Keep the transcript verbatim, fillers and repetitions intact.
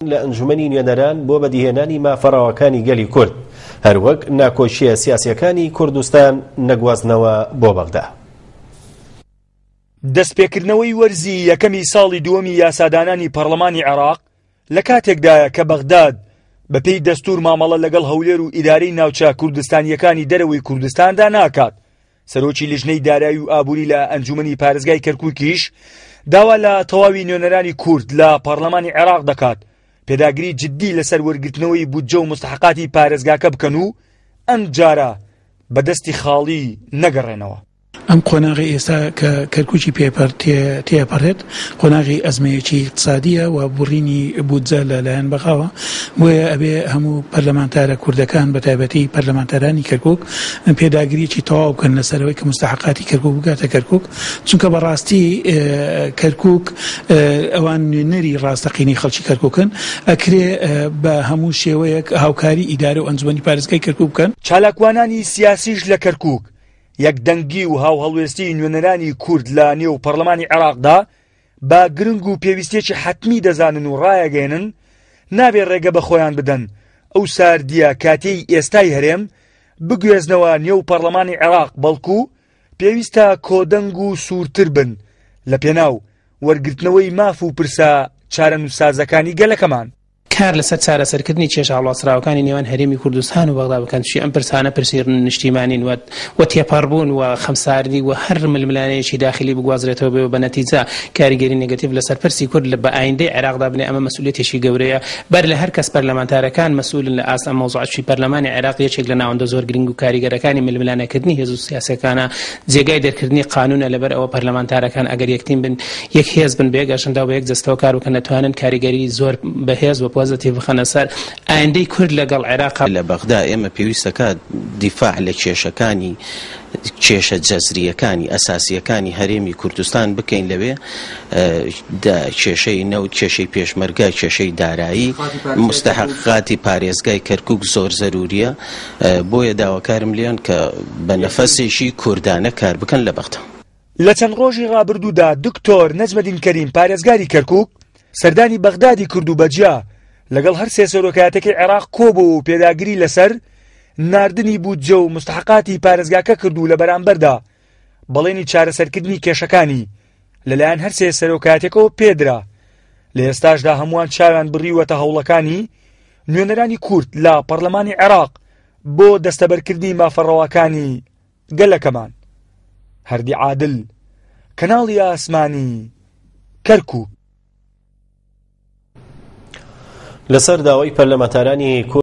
لە ئەنجومەنی نوێنەران بۆ بەدیهێنانی مافە ڕەواکانی گەلی کورد، هەروەک ناکۆکییە سیاسیەکانی کوردستان نەگوازنەوە بۆ بەغدا. دەستپێکردنەوەی وەرزی یەکەمی ساڵی دووەمی یاسادانانی پەرلەمانی عێراق لە کاتێکدایە کە بەغداد بەپێی دەستور مامەڵە لەگەڵ هەولێر و ئیدارەی ناوچە کوردستانیەکانی دەرەوەی کوردستاندا ناکات. سەرۆکی لیژنەی دارایی و ئابووری لە ئەنجومەنی پارێزگای کەرکووکیش داوا لە تەواوی نوێنەرانی کورد لە پەرلەمانی عێراق دەکات پێداگری جدی لەسەر وەرگرتنەوەی بودجە و مستحقاتی پارێزگاکە بکەن و ئەم جارە بەدەستی خاڵی نەگەڕێنەوە. ئەم قۆناغی ئێستا کە کەرکووکی تێپەڕێت قۆناغی ئەزمەیەکی اقتصادیە و بڕینی بودجە لەلایەن بەغاوە، بۆیە ئەبێ هەموو پەرلەمانتارە کوردەکان بە تایبەتی پەرلەمانتارانی کەرکووک پێداگریەکی تەواو بکەن لەسەرەوەی کە مستحقاتی کەرکووک بگاتە کەرکووک، چونکە بەڕاستی کەرکووک ئەوان نوێنەری ڕاستەقینەی خەڵکی کەرکووکن، ئەکرێ بە هەموو شێوەیەک هاوکاری ئیدارە و ئەنجومەنی پارێزگای کەرکووک بکەن. چالاکوانانی سیاسیش لە کەرکووک یەکدەنگی و هاوهەڵوێستی نوێنەرانی کورد لە نێو پەرلەمانی عێراقدا بە گرنگ و پێویستیەکی حەتمی دەزانن و ڕایەگەێنن نابێ ڕێگە بە خۆیان بدەن ئەو ساردیە کاتێی ئێستای هەرێم بگوێزنەوە نێو پەرلەمانی عێراق، بەڵکو پێویستە کۆدەنگ و سوورتر بن لە پێناو وەرگرتنەوەی ماف و پرسە چارەنووسسازەکانی گەلەکەمان. کار لەسەر چارەسەرکردنی کێشە هەڵواسراوەکانی نێوان هەرێمی کوردستان و بەغدا بکەن، چی ئەم پرسانە پرسی نیشتیمانین و تێپەڕبوون و خەمساردی و هەر ململانەیەکی داخلی بگوازرێتەوە بێ بە نەتیجە کاریگەری نێگەتیڤ لەسەر پرسی کورد لە بە ئایندەی عێراقدا بنێ. ئەمە مەسئولیەتێکی گەورەیە، بەر لە هەر کەس پەرلەمانتارەکان مەسئولن لە ئاست ئەم مەوزوعە، چی پەرلەمانی عێراق یەکێک لە ناوەندە زۆر گرنگ و کاریگەرەکانی ململانەکردنی هێز و سیاسەکانە، جێگای دەرکردنی قانونە. لەبەر ئەوە پەرلەمانتارەکان ئەگەر یەکتیم بن، یەک هێز بن، بە یەک ئەژەندا و بە یەک جەستەوە کار بکەن، دەتوانن کاریگەری زۆر بەهێز و پۆزەتیڤ بخەنە سەر ئایندەی کورد لەگەڵ عێراق. لە بەغدا ئێمە پێویستەکات دیفاع لە کێشەکانی کێشە جەزریەکانی ئەساسیەکانی هەرێمی کوردستان بکەین لەوێ، کێشەی نەوت، کێشەی پێشمەرگە، کێشەی دارایی، مستحقاتی پارێزگای کەرکووک زۆر زەروریە. بۆیە داواکارم لێن کە بە نەفەسێکی کوردانە کار بکەن لە بەغدا. لە چەند ڕۆژی ڕابردوودا دکتۆر نەجمەدین کەریم پارێزگاری کەرکووک سەردانی بەغدادی کرد و بەجیا لەگەڵ هەر سێ سەرۆکایەتەکەی عێراق کۆبوو و پێداگری لەسەر ناردنی بودجە و مستحقاتی پارێزگاکە کرد و لە بەرامبەردا بەڵێنی چارەسەرکردنی کێشەکانی لەلایەن هەر سێ سەرۆکایەتەکەوە پێدرا. لە ئێستاشدا هەمووان چاویان بڕیوەتە هەوڵەکانی نوێنەرانی کورد لە پەرلەمانی عێراق بۆ دەستەبەرکردنی مافە ڕەواکانی گەلەکەمان. هەردی عادل، کەناڵی ئاسمانی کەرکووک. لەسەر داوای پەرلەمانتارانی کورد